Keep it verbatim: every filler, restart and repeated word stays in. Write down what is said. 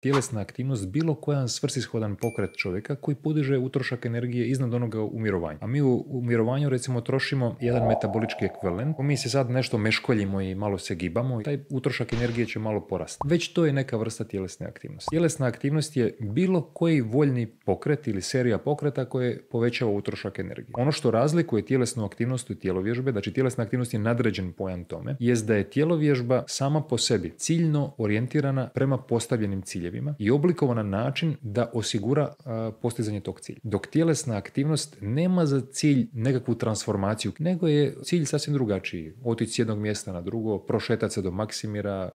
tjelesna aktivnost bilo koja svrsishodan pokret čovjeka koji podiže utrošak energije iznad onoga u mirovanju. A mi u, u mirovanju recimo trošimo jedan metabolički ekvivalent, mi se sad nešto meškoljimo i malo se gibamo i taj utrošak energije će malo porasti. Već to je neka vrsta tjelesne aktivnosti. Tjelesna aktivnost je bilo koji voljni pokret ili serija pokreta koje povećava utrošak energije. Ono što razlikuje tjelesnu aktivnost od tjelovježbe, znači tjelesna aktivnost je nadređen pojam tome, jest da je tjelovježba sama po sebi ciljno orijentirana prema postavljenim ciljevima i oblikovana na način da osigura a, postizanje tog cilja. Dok tjelesna aktivnost nema za cilj nekakvu transformaciju, nego je cilj sasvim drugačiji. Otići s jednog mjesta na drugo, prošetati se do Maksimira,